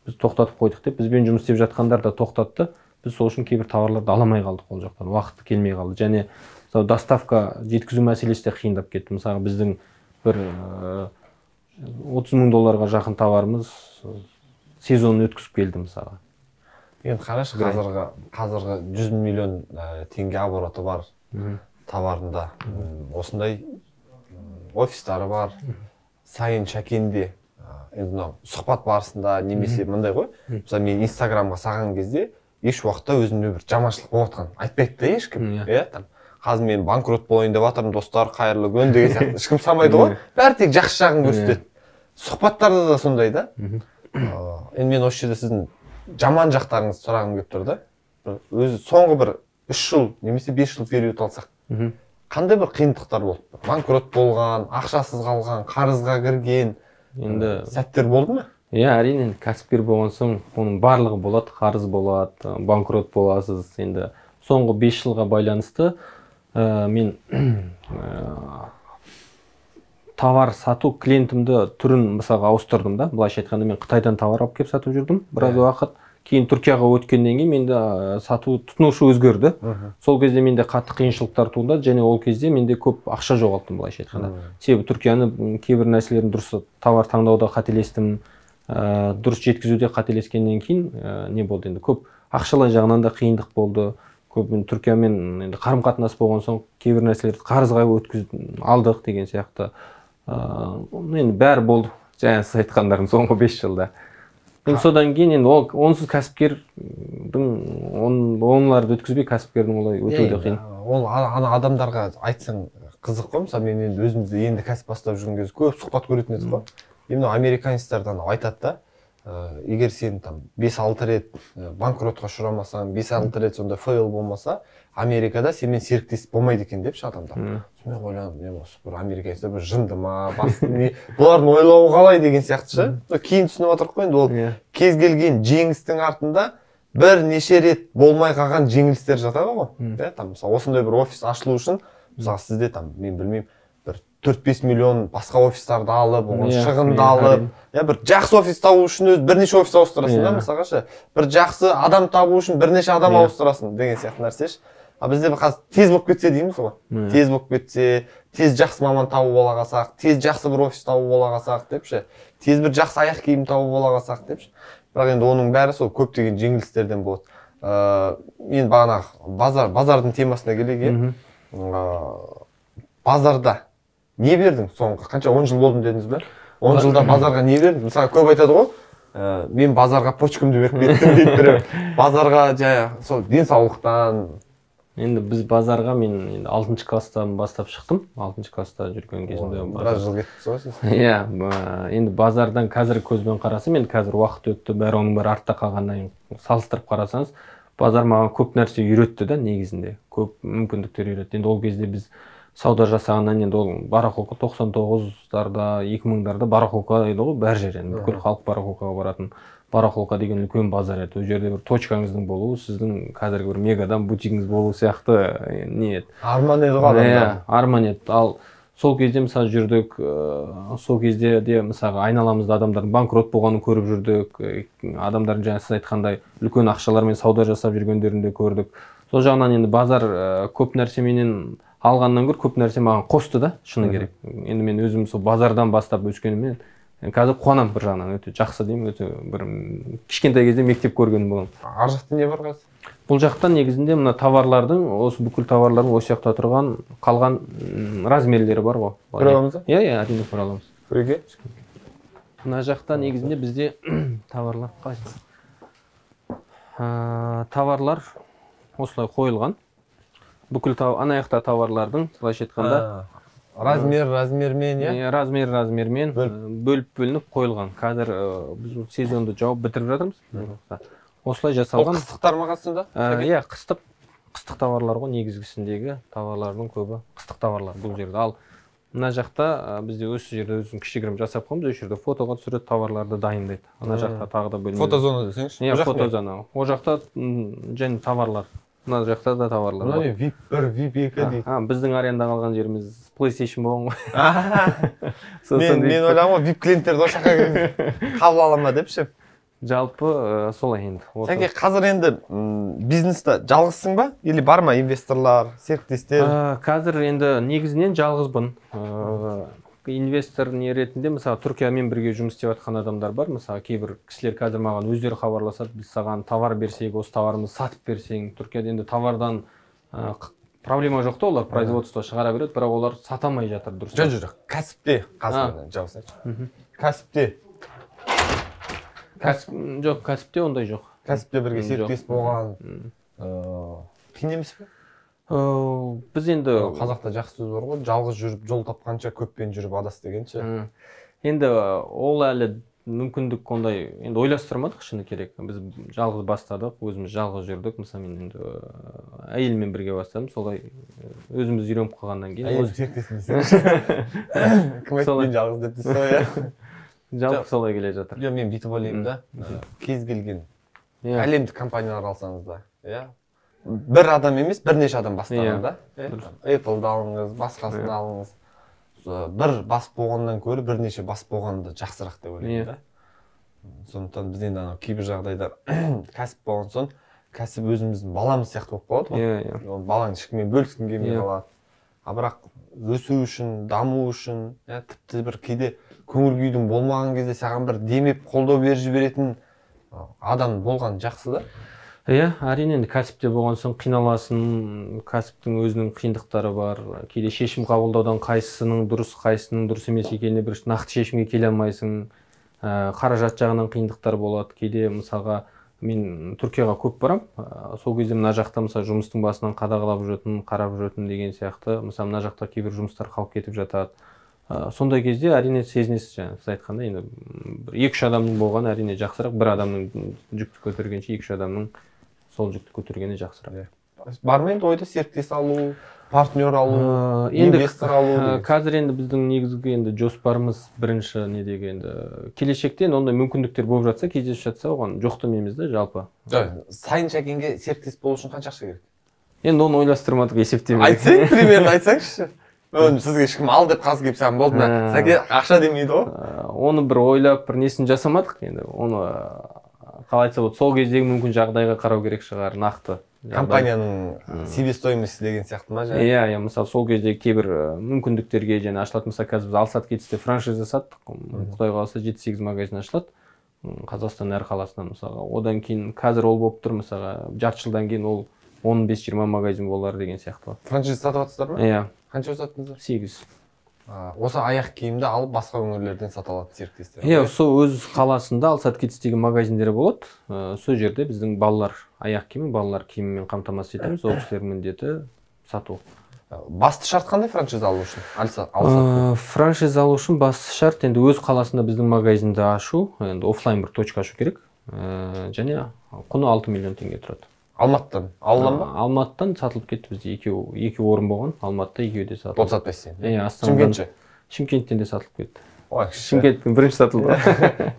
S2: Біз тоқтатып қойдық деп, бізбен жұмыс істеп жатқандар да тоқтатты. Біз сол үшін кейбір товарларды аламай қалдық ол жақтан, уақыты келмей қалды. Және доставка жеткізу мәселесі де қиындап кетті. Мысалы біздің бір отыз мың долларға жақын товарымыз сезонын өткізіп келді мысалға.
S1: Енді қарашы, қазіргі қазіргі жүз миллион теңге обороты бар товарында осындай офистары бар. Сайын Шәкенде енді мынау сұхбат барысында немесе мындай ғой. Мысалы мен Инстаграмға саған кезде еш уақытта өзімде бір жаманшылық болып жатқан айтпайды да ешкім. Иә, там қазір мен банкрот болайын деп жатырмын, достар, қайырлы күн деген сияқты ешкім санамайды ғой. Бәрі тек жақсы жағын көрсетеді. Сұхбаттарда да сондай да. Енді мен осы жерде сіздің жаман жақтарыңызды сұрағым келіп тұр да. Өзі соңғы бір үш жыл немесе бес жыл период алсақ, қандай бір қиындықтар болды? Банкрот болған, ақшасыз қалған, қарызға кірген енді сәттер болды ма?
S2: Иә, әрине, кәсіпкер болған соң оның барлығы болады, қарыз болады, банкрот боласыз. Енді соңғы бес жылға байланысты мен товар сату клиентімді түрін мысалға ауыстырдым да. Былайша айтқанда мен Қытайдан товар алып келіп сатып жүрдім біраз уақыт. Кейін Түркияға өткеннен кейін менде сату тұтынушы өзгерді. Сол кезде менде қатты қиыншылықтар туындады және ол кезде менде көп ақша жоғалттым былайша айтқанда. Себебі Түркияны кейбір нәрселерін дұрыс товар таңдауда қателестім, дұрыс жеткізуде қателескеннен кейін не болды енді көп ақшалай жағынан да қиындық болды. Көп мен Түркиямен енді қарым-қатынас болған соң кейбір нәрселерді қарызға өткізіп алдық деген сияқты. Енді бәрі болды. Жаңа сіз айтқандарым соңғы бес жылда. Содан кейін енді онсыз кәсіпкердің онларды өткізбей кәсіпкердің олай өтуі қиын.
S1: Ол ана адамдарға айтсаң қызық қой. Мысалы мен енді өзімізді енді кәсіп бастап жүрген кезде көп сұхбат көретін едік қой. Енді американецтерден айтады да, егер сен там бес алты рет банкротқа ұшырамасаң, бес алты рет сонда фейл болмаса, Америкада сенімен серіктес болмайды екен депші адамдар. Мен ойландым, не осы бір американецтер бір жынды ма, басты не, бұлардың ойлауы қалай деген сияқты ше. Кейін түсініп отырық қой, енді ол кез келген жеңістің артында бір неше рет болмай қалған жеңілістер жатады ғой. Там мысалы осындай бір офис ашылу үшін, мысалы сізде там мен білмеймін, бір төрт бес миллион басқа офистарды алып, оған шығынды алып, бір жақсы офис табу үшін өз бірнеше офис ауыстырасың да, мысалға ше. Бір жақсы адам табу үшін бірнеше адам ауыстырасың деген сияқты нәрсе ше. А бізде қазір тез болып кетсе дейміз ғой. Тез болып кетсе, тез жақсы маман табу бола қалсақ, тез жақсы бір офис табу бола қалсақ деп ше. Тез бір жақсы аяқ киім табу бола қалсақ деп ше. Бірақ енді оның бәрі сол көптеген жеңілістерден болады. Мен бағана базар, базардың темасына келейік. Базарда не бердің соңғы? Қанша он жыл болдым дедіңіз бе? он жылда базарға не бердің? Мысалы көп айтады ғой. Мен базарға почкамды беріп кеттім дейді біреу. Базарға жай сол денсаулықтан.
S2: Енді біз базарға мен алтыншы класстан бастап шықтым. алтыншы класста жүрген кезімде.
S1: Біраз жыл кеттіңіз ғой сіз?
S2: Иә, енді базардан қазіргі көзбен қарасам, енді қазір уақыт өтті, бәрі оның бәрі артта қалғаннан салыстырып қарасаңыз, базар маған көп нәрсе үйретті да негізінде. Көп мүмкіндіктер үйретті. Енді ол кезде біз сауда жасағаннан енді ол барахолка тоқсан тоғыздарда, екі мыңдарда барахолка еді ғой бәр жер. Енді бүкіл халық барахолкаға баратын. Барахолка деген үлкен базар еді. Ол жерде бір точкаңыздың болуы, сіздің қазіргі бір мегадан бутигіңіз болу сияқты не еді.
S1: Арман еді ғой адамдар.
S2: Арман еді. Ал сол кезде мысалы жүрдік, сол кезде де мысалы айналамызда адамдардың банкрот болғанын көріп жүрдік. Адамдардың жаңа сіз айтқандай үлкен ақшалармен сауда жасап жүргендерін де көрдік. Сол жағынан енді базар көп нәрсе менен алғаннан гөрі көп нәрсе маған қосты да, шыны керек. Енді мен өзім сол базардан бастап өскеніммен қазір қуанам бір жағынан, өте жақсы деймін, өте бір кішкентай кезде мектеп көрген болам.
S1: Ар жақта не бар қазір?
S2: Бұл жақта негізінде мына товарлардың, осы бүкіл товарлардың осы жақта тұрған қалған размерлері бар ғой.
S1: Көре аламыз ба?
S2: Иә, иә, әрине көре аламыз.
S1: Көреге?
S2: Мына жақта негізінде бізде товарлар қалай? Товарлар осылай қойылған. Бүкіл ана жақта товарлардың, былайша айтқанда
S1: размер размермен,
S2: иә? Размер размермен бөліп бөлініп қойылған. Қазір біз сезонды жауып бітіріп жатырмыз. Осылай жасалған.
S1: Ол қыстықтар ма қасында?
S2: Иә, қыстық қыстық товарлар ғой, негізгісіндегі товарлардың көбі қыстық товарлар бұл жерде. Ал мына жақта бізде осы жерде өзін кішігірім жасап қоймыз, осы жерде фотоға түсіреді, товарларды дайындайды. Ана жақта тағы да бөлме.
S1: Фотозона десеңізші?
S2: Иә, фотозона. О жақта және товарлар. Мына жақта да товарлар.
S1: Мына не вип бір, вип екі дейді.
S2: Біздің аренда қалған жеріміз PlayStation болған ғой.
S1: Мен ойлағам ғой, вип клиенттерді осы жаққа қабыл ала ма деп ше.
S2: Жалпы солай енді.
S1: Сәке, қазір енді бизнесте жалғызсың ба? Или бар ма инвесторлар, серіктестер?
S2: Қазір енді негізінен жалғызбын. инвестор не ретінде мысалы Түркиямен бірге жұмыс істеп жатқан адамдар бар. Мысалы кейбір кісілер қазір маған өздері хабарласады, біз саған товар берсек, осы товарымызды сатып берсең. Түркияда енді товардан проблема жоқ та, олар производство шығара береді, бірақ олар сата алмай жатыр. Дұрыс.
S1: Жоқ, жоқ, кәсіпте, қазір жауап кәсіпте.
S2: Жоқ, кәсіпте ондай жоқ.
S1: Кәсіпте бірге серіктес болған қиын емес пе?
S2: Біз енді
S1: қазақта жақсы сөз бар ғой, жалғыз жүріп жол тапқанша көппен жүріп адас дегенше.
S2: Енді ол әлі мүмкіндік ондай енді ойластырмадық, шыны керек. Біз жалғыз бастадық, өзіміз жалғыз жүрдік. Мысалы мен енді әйелмен бірге бастадым, солай өзіміз үйреніп қалғаннан кейін.
S1: Әйел серіктесің десеңші. Кім айтты мен жалғыз деп дейсіз ғой.
S2: Жалпы солай келе жатыр.
S1: Жоқ, мен бүйтіп ойлаймын да, кез келген әлемдік компаниялар алсаңыз да, иә. Бір адам емес, бірнеше адам бастаған да. Apple-ды алыңыз, басқасын алыңыз. Бір бас болғаннан көрі бірнеше бас болғанды жақсырақ деп ойлаймын да. Сондықтан біз енді кейбір жағдайда кәсіп болған соң, кәсіп өзіміздің баламыз сияқты болып қалады ғой. Балаң ешкіммен бөліскің келмей қалады. А бірақ өсу үшін, даму үшін, тіпті бір кейде көңіл күйдің болмаған кезде саған бір демеп қолдау беріп жіберетін адам болған жақсы да.
S2: Иә, әрине енді кәсіпте болған соң қиналасың, кәсіптің өзінің қиындықтары бар. Кейде шешім қабылдаудан қайсысының дұрыс, қайсысының дұрыс емес екеніне бір нақты шешімге келе алмайсың. Қаражат жағынан қиындықтар болады. Кейде мысалға мен Түркияға көп барам. Сол кезде мына жақта мысалы жұмыстың басынан қадағалап жүретін, қарап жүретін деген сияқты. Мысалы мына жақта кейбір жұмыстар қалып кетіп жатады. Сондай кезде әрине сезінесіз, жаңа сіз айтқанда енді екі-үш адамның болғаны әрине жақсырақ, бір адамның жүкті көтергенше екі-үш адамның сол жүкті көтергені жақсырақ.
S1: Бар ма енді ойда серіктес алу, партнер алу, инвестор алу?
S2: Қазір енді біздің негізгі енді жоспарымыз бірінші недегі енді келешекте ондай мүмкіндіктер болып жатса, кездесіп жатса, оған жоқ демейміз да жалпы.
S1: Сайын Шәкенге серіктес болу үшін қанша ақша керек?
S2: Енді оны ойластырмадық, есептемедік.
S1: Айтсаң, примерно айтсаңызшы. Сізге ешкім ал деп қазір келіп саған болды ма? Сәке ақша демейді ғой.
S2: Оны бір ойлап, бір несін жасамадық енді. Оны қалай айтса болады, сол кездегі мүмкін жағдайға қарау керек шығар, нақты.
S1: Компанияның себестоимости деген сияқты ма?
S2: Иә, иә, мысалы сол кезде кейбір мүмкіндіктерге және ашылатын, мысалы қазір біз Алсат кетісте франшиза саттық. Құдай қаласа жеті-сегіз магазин ашылады. Қазақстан әр қаласынан мысалға. Одан кейін қазір ол болып тұр, мысалға жарты жылдан кейін ол он бес-жиырма магазин болар деген сияқты.
S1: Франшиза сатып жатсыздар ма?
S2: Иә.
S1: Қанша саттыңыздар?
S2: сегіз.
S1: Осы аяқ киімді алып басқа өңірлерден сата алады серіктестер.
S2: Иә, сол өз қаласында Алсат кетістегі магазиндері болады. Сол жерде біздің балалар аяқ киімі, балалар киімімен қамтамасыз етеміз. Ол кісілердің міндеті сату.
S1: Басты шарт қандай франшиза алу үшін? Алсат.
S2: Франшиза алу үшін басты шарт енді өз қаласында біздің магазинді ашу, енді офлайн бір точка ашу керек. Және құны алты миллион теңге тұрады.
S1: Алматыдан алынған ба?
S2: Алматыдан сатылып кетті, бізде екі орын болған. Алматыда екеуі де сатылды.
S1: Ол сатпайсың.
S2: Иә,
S1: Шымкентше.
S2: Шымкенттен де сатылып кетті.
S1: Ой,
S2: Шымкентпен бірінші сатылды.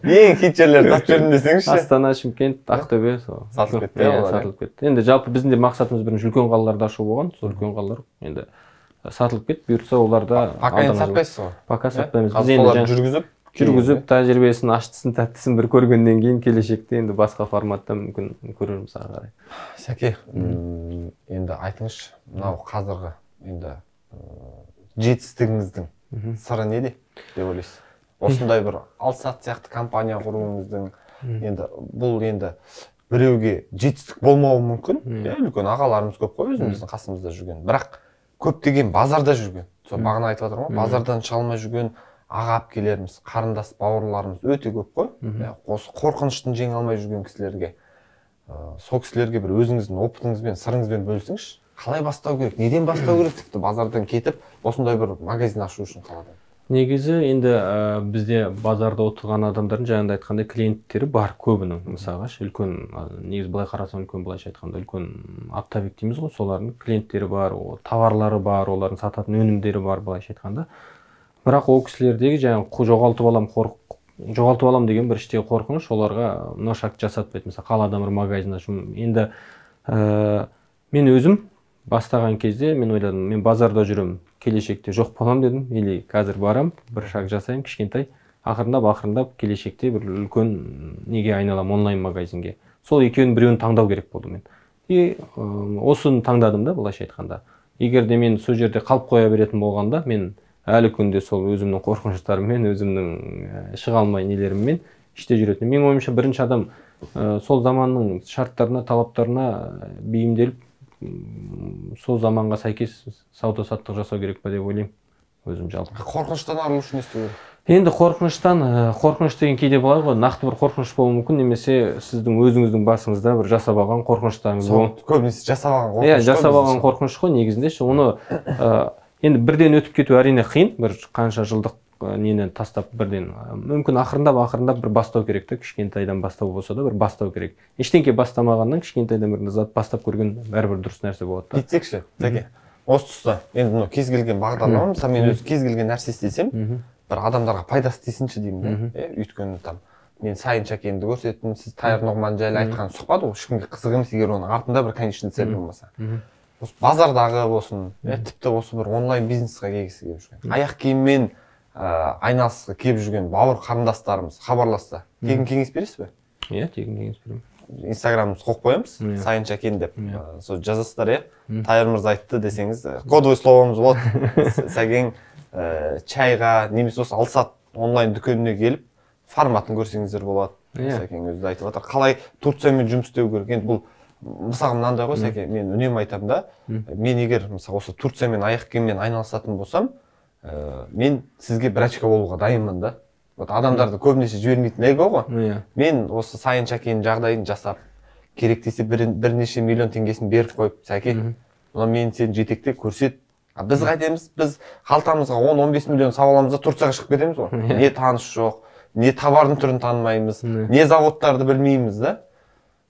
S1: Ең хит жерлерді сатып жүрдім десеңізші.
S2: Астана, Шымкент, Ақтөбе
S1: сатылып кетті.
S2: Иә, сатылып кетті. Енді жалпы біздің де мақсатымыз бірінші үлкен қалаларда ашу болған. Сол үлкен қалалар енді сатылып кетті. Бұйыртса оларда
S1: пока енді сатпайсыз ғой.
S2: Пока сатпаймыз.
S1: Біз енді жүргізіп
S2: жүргізіп тәжірибесін, аштысын, тәттісін бір көргеннен кейін келешекте енді басқа форматта мүмкін көрерміз ары қарай.
S1: Сәке, енді айтыңызшы, мынау қазіргі енді жетістігіңіздің сыры неде деп ойлайсыз? Осындай бір Алсат сияқты компания құруыңыздың енді бұл енді біреуге жетістік болмауы мүмкін. Үлкен ағаларымыз көп қой өзіміздің қасымызда жүрген. Бірақ көптеген базарда жүрген. Сол бағана айтып жатырмын ғой, базардан шыға алмай жүрген аға әпкелеріміз, қарындас бауырларымыз өте көп қой. Осы қорқыныштың жеңе алмай жүрген кісілерге, сол кісілерге бір өзіңіздің опытыңызбен, сырыңызбен бөлсеңізші. Қалай бастау керек? Неден бастау керек? Тіпті базардан кетіп, осындай бір магазин ашу үшін қаладан.
S2: Негізі енді бізде базарда отырған адамдардың жаңағыда айтқандай клиенттері бар көбінің. Мысалға үлкен, негізі былай қарасаң үлкен, былайша айтқанда үлкен оптовик дейміз ғой, солардың клиенттері бар, товарлары бар, олардың сататын өнімдері бар, былайша айтқанда. Бірақ ол кісілердегі жаңағы жоғалтып алам, жоғалтып алам деген бір іштегі қорқыныш оларға мына шакт жасатпайды. Мысалы қаладан бір магазин ашу. Енді мен өзім бастаған кезде мен ойладым, мен базарда жүрем, келешекте жоқ болам дедім, или қазір барам, бір шаг жасайым, кішкентай, ақырындап ақырындап келешекте бір үлкен неге айналам, онлайн магазинге. Сол екеуін біреуін таңдау керек болды мен. И осыны таңдадым да, былайша айтқанда. Егер де мен сол жерде қалып қоя беретін болғанда, мен әлі күнде сол өзімнің қорқыныштарыммен, өзімнің шыға алмай нелеріммен іште жүретін. Менің ойымша бірінші адам сол заманның шарттарына, талаптарына бейімделіп, сол заманға сәйкес сауда саттық жасау керек па деп ойлаймын өзім жалпы.
S1: Қорқыныштан арылу үшін не істеу керек?
S2: Енді қорқыныштан, қорқыныш деген кейде болады ғой, нақты бір қорқыныш болуы мүмкін, немесе сіздің өзіңіздің басыңызда бір жасап алған қорқыныштарыңыз болады.
S1: Көбінесе жасап алған қорқыныш.
S2: Иә, жасап алған қорқыныш қой негізінде ше. Оны енді бірден өтіп кету әрине қиын, бір қанша жылдық нені тастап бірден. Мүмкін ақырындап ақырындап бір бастау керек те, кішкентайдан бастау болса да бір бастау керек. Ештеңке бастамағаннан кішкентайдан бір зат бастап көрген бәрібір дұрыс нәрсе болады да.
S1: Бүйтсекші, Тәке. Осы тұста енді мына кез келген бағдарлама, мысалы мен өз кез келген нәрсе істесем, бір адамдарға пайдасы тисінші деймін да. Өйткені там мен Сайын Шәкенді көрсеттім, сіз Тайыр Нұғман жайлы айтқан сұхбат ол ешкімге қызық емес, егер оның артында бір конечный цель болмаса. Осы базардағы болсын, тіпті осы бір онлайн бизнесқа келгісі келіп жүрген, аяқ киіммен айналысқа келіп жүрген бауыр қарындастарымыз хабарласса, тегін кеңес бересіз бе?
S2: Иә, тегін кеңес беремін.
S1: Инстаграмымызды қойып қоямыз, Сайын Шәкен деп. Сол жазасыздар, иә. Тайыр мырза айтты десеңіз, кодовый словомыз болады. Сәкен чайға, немесе осы Алсат онлайн дүкеніне келіп, форматын көрсеңіздер болады. Сәкен өзі айтып жатыр. Қалай Турциямен жұмыс істеу керек? Енді бұл мысалы мынандай ғой, Сәкен, мен үнемі айтамын да, мен егер мысалы осы Турциямен аяқ киіммен айналысатын болсам, мен сізге бір очко болуға дайынмын да. Адамдарды көбінесе жібермейтін эго ғой. Мен осы Сайын Шәкеннің жағдайын жасап, керек десе бірнеше миллион теңгесін беріп қойып, Сәкен, мына мен сені жетекте көрсет. Біз қайтеміз, біз қалтамызға он он бес миллион сап аламыз да Турцияға шығып кетеміз ғой. Не таныс жоқ, не товардың түрін танымаймыз, не заводтарды білмейміз да.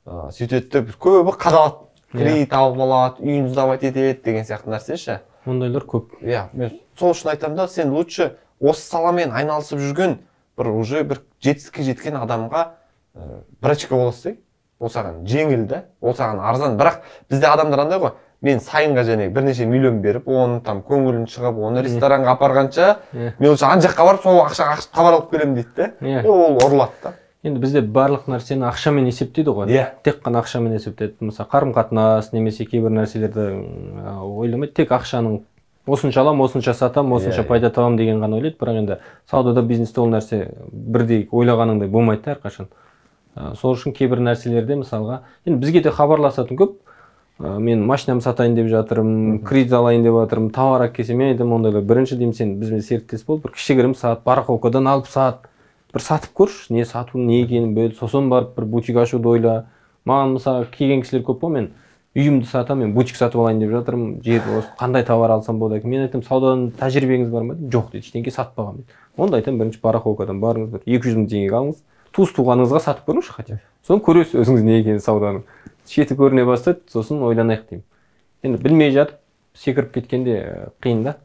S1: Сөйтеді көбі қадалады, кредит алып алады, үйін сдавать етеді деген сияқты нәрсе ше.
S2: Ондайлар көп.
S1: Иә, мен сол үшін айтамын да, сен лучше осы саламен айналысып жүрген бір уже бір жетістікке жеткен адамға бір очко боласыз, ол саған жеңіл да, ол саған арзан. Бірақ бізде адамдар андай ғой, мен Сайынға және бірнеше миллион беріп, оны там көңілін шығып, оны ресторанға апарғанша, мен лучше ана жаққа барып, сол ақшаға хабар алып келемін дейді да. Ол ұрылады да.
S2: Енді бізде барлық нәрсені ақшамен есептейді ғой. Тек қана ақшамен есептейді. Мысалы, қарым-қатынас немесе кейбір нәрселерді ойламайды, тек ақшаның осынша алам, осынша сатам, осынша пайда табам деген ғана ойлайды. Бірақ енді саудада, бизнесте ол нәрсе бірдей ойлағаныңдай болмайды да әрқашан. Сол үшін кейбір нәрселерде мысалға, енді бізге де хабарласатын көп. Мен машинамды сатайын деп жатырмын, кредит алайын деп жатырмын, товар әкелсем, мен айтамын ондайлар. Бірінші деймін, сен бізбен серіктес бол, бір кішігірім сат, барахолкадан алып сат, бір сатып көрші, не сату, не екенін бөл, сосын барып бір бутик ашуды ойла. Маған мысалы келген кісілер көп қой, мен үйімді сатам, мен бутик сатып алайын деп жатырмын, жер қандай товар алсам болады екен. Мен айтамын, саудадан тәжірибеңіз бар ма? Жоқ дейді, ештеңе сатпаған дейді. Онда айтамын, бірінші барахолкадан барыңыз, бір екі жүз мың теңгеге алыңыз, туыс туғаныңызға сатып көріңізші хотя. Соны көресіз өзіңіз не екенін сауданың. Шеті көріне бастайды, сосын ойланайық деймін. Енді білмей жатып, секіріп кеткенде қиын да.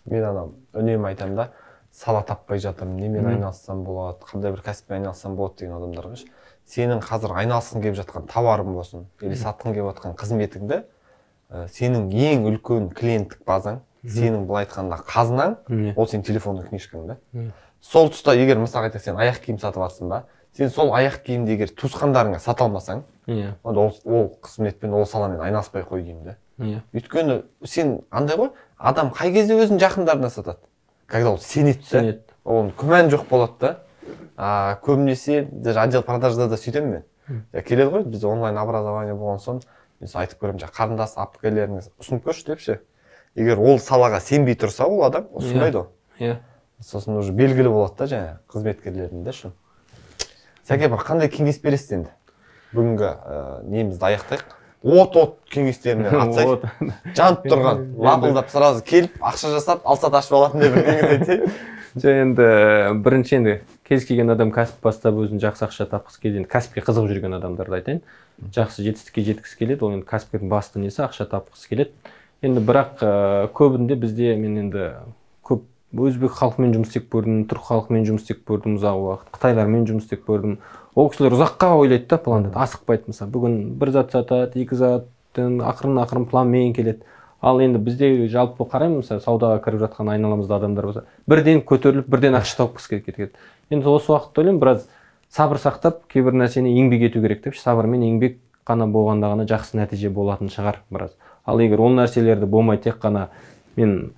S1: Мен анам үнемі айтамын да, сала таппай жатырмын, немен айналыссам болады, қандай бір кәсіппен айналыссам болады деген адамдарға. Сенің қазір айналысқың келіп жатқан товарың болсын, или сатқың келіп жатқан қызметіңді, сенің ең үлкен клиенттік базаң, сенің былай айтқанда қазынаң, ол сенің телефондық книжкаң да. Сол тұста егер мысалға айтсақ, сен аяқ киім сатып жатсың ба, сен сол аяқ киімді егер туысқандарыңа сата алмасаң, онда ол қызметпен, ол саламен айналыспай қой деймін да. Өйткені сен андай ғой, адам қай кезде өзінің жақындарына сатады? Когда ол сенеді да, оның күмән жоқ болады да. Көбінесе даже отдел продажда да сөйтемін мен. Келеді ғой, бізде онлайн образование болған соң, мен айтып көремін, қарындас апкелеріңіз ұсынып көрші депші. Егер ол салаға сенбей тұрса, ол адам ұсынбайды ол. Сосын уже белгілі болады да жаңа қызметкерлердің де шын. Сәке, бір қандай кеңес бересіз енді? Бүгінгі немізді аяқтайық. От-от кеңестеріне атсай, жанып тұрған, лапылдап сразу келіп, ақша жасап, алсат ашып алатындай бір кеңес айтсай.
S2: Жоқ, енді бірінші енді кез келген адам кәсіп бастап өзін жақсы ақша тапқысы келеді. Кәсіпке қызығып жүрген адамдарды айтайын. Жақсы жетістікке жеткісі келеді, ол енді кәсіпкердің басты несі ақша тапқысы келеді. Енді бірақ көбінде бізде мен енді көп өзбек халқымен жұмыс істеп көрдім, түрік халқымен жұмыс істеп көрдім ұзақ уақыт, қытайлармен жұмыс істеп көрдім. Ол кісілер ұзаққа ойлайды да, планды асықпайды. Мысалы, бүгін бір зат сатады, екі заттың ақырын-ақырын планмен келеді. Ал енді бізде жалпы қараймын, мысалы, саудаға кіріп жатқан айналамызда адамдар болса, бірден көтеріліп, бірден ақша тапқысы кетеді. Енді осы уақытта ойлаймын, біраз сабыр сақтап, кейбір нәрсені еңбек ету керек деп, сабыр мен еңбек қана болғанда ғана жақсы нәтиже болатын шығар біраз. Ал егер ол нәрселерді болмай тек қана мен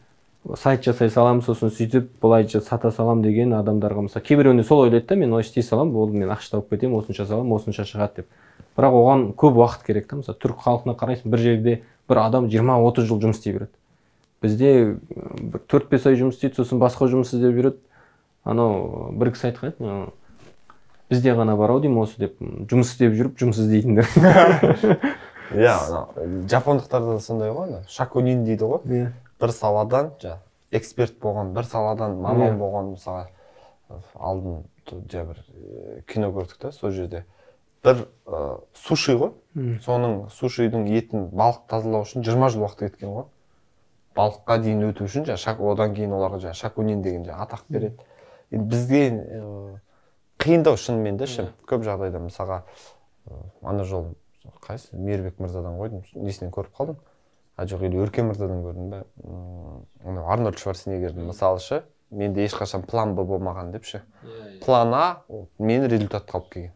S2: сайт жасай салам, сосын сөйтіп былайша сата салам деген адамдарға мысалы кейбіреуінде сол ойлайды да, мен олай істей салам, болды мен ақша тауып кетемін, осынша салам, осынша шығады деп. Бірақ оған көп уақыт керек та. Мысалы түрік халқына қарайсың, бір жерде бір адам жиырма отыз жыл жұмыс істей береді. Бізде бір төрт бес ай жұмыс істейді, сосын басқа жұмыс іздеп жүреді. Анау бір кісі айтқан еді, бізде ғана бар ау деймін осы деп, жұмыс істеп жүріп жұмыс іздейтіндер.
S1: Иә, жапондықтарда да сондай ғой, шакунин дейді ғой. Бір саладан эксперт болған, бір саладан маман болған, мысалы алдын бір кино көрдік та, сол жерде бір суши ғой, соның сушидің етін балық тазалау үшін жиырма жыл уақыт кеткен ғой. Балыққа дейін өту үшін одан кейін оларға шакунин деген атақ береді. Бізге қиындау шынымен де, көп жағдайда мысалға ана жол қайсы Мейірбек мырзадан қойдым, несінен көріп қалдым. А жоқ, или Өркен мырзадан көрдім бе? Арнольд Шварценеггердің мысалы ше, менде ешқашан план Б болмаған деп ше. План А мені результат қалып келген.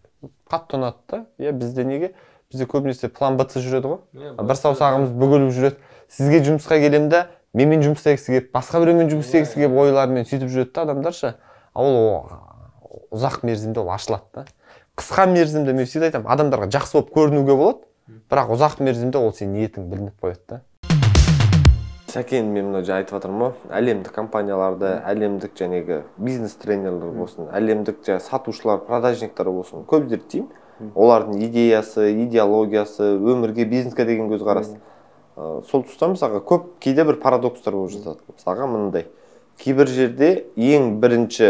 S1: Қатты ұнады да. Иә, бізде неге? Бізде көбінесе план Б жүреді ғой. Бір саусағымыз бүгіліп жүреді. Сізге жұмысқа келем де, менмен жұмыс істегісі келіп, басқа біреумен жұмыс істегісі келіп ойларымен сөйтіп жүреді да адамдар ше. Ол ұзақ мерзімде ол ашылады да. Қысқа мерзімде мен всегда айтамын, адамдарға жақсы болып көрінуге болады, бірақ ұзақ мерзімде ол сен ниетің білініп қояды да. Сәкен, мен мына жаңа айтып жатырмын ғой, әлемдік компанияларды, әлемдік жаңағы бизнес тренерлер болсын, әлемдік жаңа сатушылар, продажниктар болсын, көп зерттеймін. Олардың идеясы, идеологиясы, өмірге, бизнеске деген көзқарас. Сол тұста мысалға көп кейде бір парадокстар болып жатады. Мысалға мындай. Кейбір жерде ең бірінші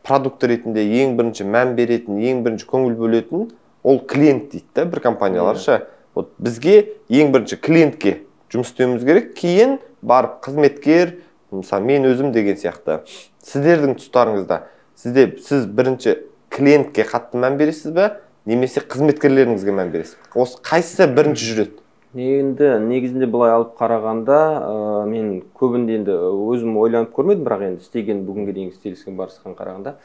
S1: продукт ретінде ең бірінші мән беретін, ең бірінші көңіл бөлетін ол клиент дейді да, бір компаниялар ше. Вот бізге ең бірінші клиентке жұмыс істеуіміз керек, кейін барып қызметкер, мысалы мен өзім деген сияқты. Сіздердің тұстарыңызда сізде сіз бірінші клиентке қатты мән бересіз бе, немесе қызметкерлеріңізге мән бересіз? Осы қайсысы бірінші жүреді?
S2: Енді негізінде былай алып қарағанда, мен көбінде енді өзім ойланып көрмедім, бірақ енді істеген бүгінге дейінгі істеліскен барысқан қарағанда,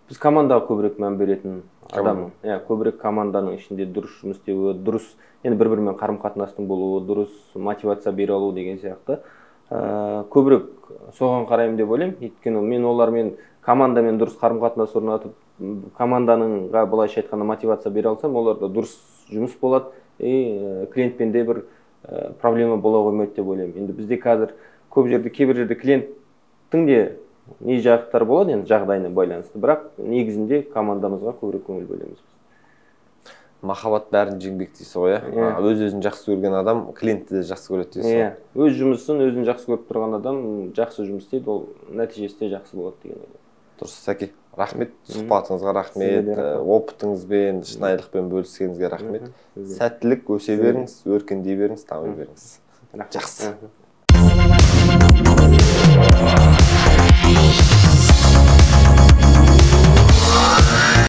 S2: біз командаға көбірек мән беретін адам. Иә, көбірек команданың ішінде дұрыс жұмыс істеуі, дұрыс, енді бір-бірімен қарым-қатынастың болуы, дұрыс мотивация бере алу деген сияқты. Көбірек соған қараймын деп ойлаймын. Өйткені мен олармен командамен дұрыс қарым-қатынас орнатып, командаға былайша айтқанда мотивация бере алсам, оларда дұрыс жұмыс болады. И клиентпен де бір проблема бола қоймайды деп ойлаймын. Енді бізде қазір көп жерде, кейбір жерде клиенттің де не жақтар болады, енді жағдайына байланысты, бірақ негізінде командамызға көбірек көңіл бөлеміз.
S1: Махаббат бәрін жеңбек дейсіз ғой, иә? Өз-өзін жақсы көрген адам клиентті де жақсы көреді дейсіз ғой?
S2: Өз жұмысын өзін жақсы көріп тұрған адам жақсы жұмыс істейді, ол нәтижесі де жақсы болады деген ойлаймын.
S1: Дұрыс, Сәке. Рахмет, сұхбатыңызға рахмет, опытыңызбен, шынайылықпен бөліскеніңізге рахмет. Сәттілік, өсе беріңіз, өркендей беріңіз, дами беріңіз. Жақсы.